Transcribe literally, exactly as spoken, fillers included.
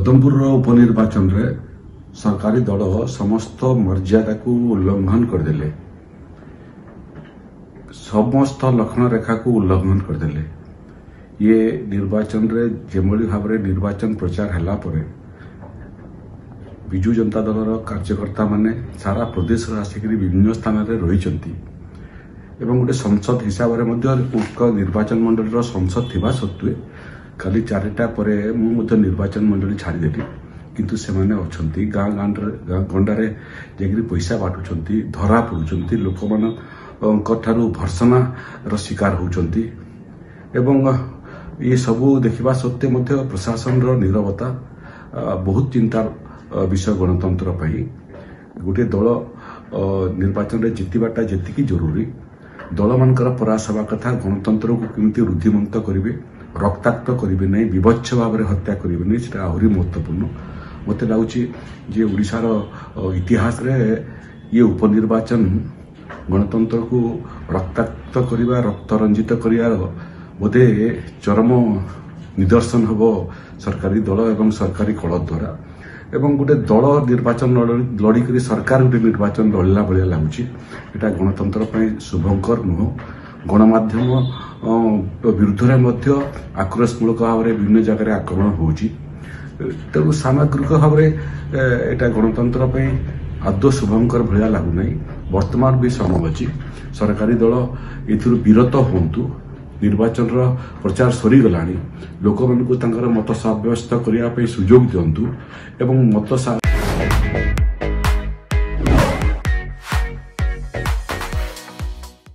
ପଦମପୁରର ଉପନିର୍ବାଚନରେ ସରକାରୀ ଦଳ ସମସ୍ତ ମର୍ଯ୍ୟାଦାକୁ ଉଲ୍ଲଂଘନ କରିଦେଲେ, ସମସ୍ତ ଲକ୍ଷ୍ମଣ ରେଖାକୁ ଉଲ୍ଲଂଘନ କରିଦେଲେ। ଇଏ ନିର୍ବାଚନରେ ଯେଭଳି ଭାବରେ ନିର୍ବାଚନ ପ୍ରଚାର ହେଲା ପରେ ବିଜୁ ଜନତା ଦଳର କାର୍ଯ୍ୟକର୍ତ୍ତାମାନେ ସାରା ପ୍ରଦେଶରୁ ଆସିକରି ବିଭିନ୍ନ ସ୍ଥାନରେ ରହିଛନ୍ତି ଏବଂ ଗୋଟେ ସଂସଦ ହିସାବରେ ମଧ୍ୟ ଉକ୍ତ ନିର୍ବାଚନ ମଣ୍ଡଳୀର ସଂସଦ ଥିବା ସତ୍ତ୍ୱେ କାଲି ଚାରିଟା ପରେ ମୁଁ ମଧ୍ୟ ନିର୍ବାଚନ ମଣ୍ଡଳୀ ଛାଡ଼ିଦେଲି, କିନ୍ତୁ ସେମାନେ ଅଛନ୍ତି ଗାଁ ଗାଁରେ ଗାଁ ଗଣ୍ଡାରେ ଯାଇକରି ପଇସା ବାଣ୍ଟୁଛନ୍ତି, ଧରା ପଡୁଛନ୍ତି, ଲୋକମାନଙ୍କ ଠାରୁ ଭର୍ସନାର ଶିକାର ହେଉଛନ୍ତି। ଏବଂ ଏସବୁ ଦେଖିବା ସତ୍ତ୍ୱେ ମଧ୍ୟ ପ୍ରଶାସନର ନିରବତା ବହୁତ ଚିନ୍ତାର ବିଷୟ ଗଣତନ୍ତ୍ର ପାଇଁ। ଗୋଟିଏ ଦଳ ନିର୍ବାଚନରେ ଜିତିବାଟା ଯେତିକି ଜରୁରୀ, ଦଳମାନଙ୍କର ପ୍ରୟାସ ହେବା କଥା ଗଣତନ୍ତ୍ରକୁ କେମିତି ରୁଦ୍ଧିମନ୍ତ କରିବେ, ରକ୍ତାକ୍ତ କରିବେ ନାହିଁ, ବିଭତ୍ସ ଭାବରେ ହତ୍ୟା କରିବେ ନାହିଁ, ସେଟା ଆହୁରି ମହତ୍ୱପୂର୍ଣ୍ଣ। ମୋତେ ଲାଗୁଛି ଯେ ଓଡ଼ିଶାର ଇତିହାସରେ ଇଏ ଉପନିର୍ବାଚନ ଗଣତନ୍ତ୍ରକୁ ରକ୍ତାକ୍ତ କରିବା, ରକ୍ତରଞ୍ଜିତ କରିବାର ବୋଧେ ଚରମ ନିଦର୍ଶନ ହେବ ସରକାରୀ ଦଳ ଏବଂ ସରକାରୀ କଳ ଦ୍ୱାରା। ଏବଂ ଗୋଟେ ଦଳ ନିର୍ବାଚନ ଲଢ଼ିକରି ସରକାର ଗୋଟେ ନିର୍ବାଚନ ଲଢ଼ିଲା ଭଳିଆ ଲାଗୁଛି। ଏଇଟା ଗଣତନ୍ତ୍ର ପାଇଁ ଶୁଭଙ୍କର ନୁହଁ। ଗଣମାଧ୍ୟମ ବିରୁଦ୍ଧରେ ମଧ୍ୟ ଆକ୍ରୋଶମୂଳକ ଭାବରେ ବିଭିନ୍ନ ଜାଗାରେ ଆକ୍ରମଣ ହେଉଛି। ତେଣୁ ସାମଗ୍ରିକ ଭାବରେ ଏଇଟା ଗଣତନ୍ତ୍ର ପାଇଁ ଆଦୌ ଶୁଭଙ୍କର ଭଳିଆ ଲାଗୁନାହିଁ। ବର୍ତ୍ତମାନ ବି ସମୟ ଅଛି, ସରକାରୀ ଦଳ ଏଥିରୁ ବିରତ ହୁଅନ୍ତୁ। ନିର୍ବାଚନର ପ୍ରଚାର ସରିଗଲାଣି, ଲୋକମାନଙ୍କୁ ତାଙ୍କର ମତ ସାବ୍ୟସ୍ତ କରିବା ପାଇଁ ସୁଯୋଗ ଦିଅନ୍ତୁ ଏବଂ ମତ